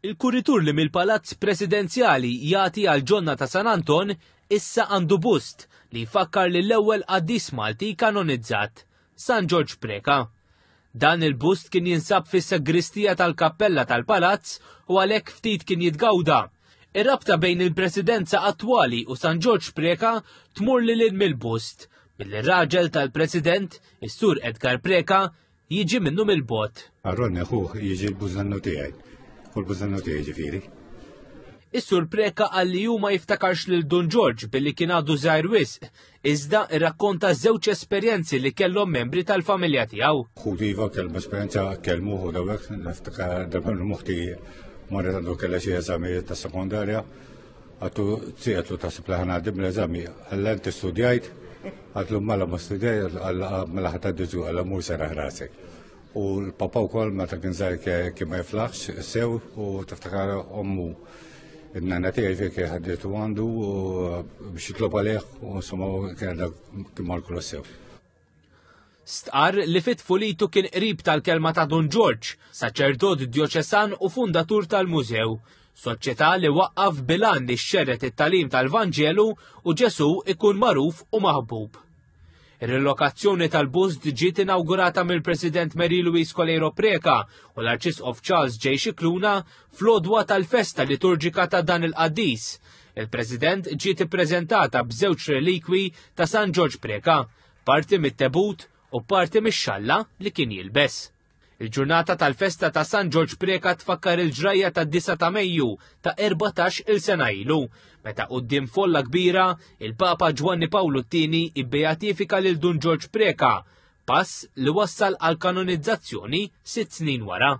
Il-kuritur li mill-Palazz Presidenzjali jagħti għall-ġonna ta' San Anton issa għandu bust li jfakkar lill-ewwel qaddis Malti kanonizzat, San Ġorġ Preca. Dan il-bust kien jinsab fis-sagristija tal-kappella tal-palazz u għalhekk ftit kien jitgawda. Ir-rabta bejn il-presidenza attwali u San Ġorġ Preca tmur lil hinn mill-bust, billi r-raġel tal-President, is-Sur Edgar Preca, jiġi minnu mill-bogħod. Ronnie ħuh jiġi l-bużannu tiegħi. U l-bużannu tiegħi ġifieri. Is-Sur Preca qal li hu ma jiftakarx lil Dun Ġorġ billi kien għadu żgħir wisq, iżda rrakkonta żewġ esperjenzi li kellhom membri tal-familja tiegħu. Ħuti iva kellhom esperjenza kellmuh u dawek, niftakar darba l-muħti marret għandu kellha xi eżamijiet ta' sekondarja, għattu tsiqetlu taħseb li ħana l-eżami, għalla inti studjajt, għatlu mela ma studjajt, għalla mela ħata diġu, għalla mur seraħ rasek. U l-papa wkoll meta kien żgħir kien ma jiflaħx sew u tiftakar ommu in-nana tiegħi kien ħadditu għandu biex jitlob għalih u insomma kien kien mar kollu sew. Stqarr li fit tfulitu kien qrib tal-kelma ta' Dun Ġorġ, saċerdot djoċesan u fundatur tal-mużew, soċjetà li waqqaf bil-għan li xxerred it-tagħlim tal-Vanġelu u Ġesù ikun magħruf u maħbub. Ir-rilokazzjoni tal-bust ġiet inawgurata mill-President Mary Louise Coleiro Preca u l-Arċisqof Charles J. Scicluna fl-għodwa tal-festa liturġika ta' dan il-qaddis. Il-President ġiet ippreżentata b'żewġ relikwi ta' San Ġorġ Preca, parti mit-tebut u parti mix-xalla li kien jilbes. Il-ġurnata tal-festa ta' San Ġorġ Preca tfakkar il-ġrajja tad-9 ta' Mejju ta' 14 il sena ilu, meta quddiem folla kbira il-Papa Ġwanni Pawlu t-Tieni ibbeatifika lil Dun Ġorġ Preca, pass li wassal għal kanonizzazzjoni sitt snin wara.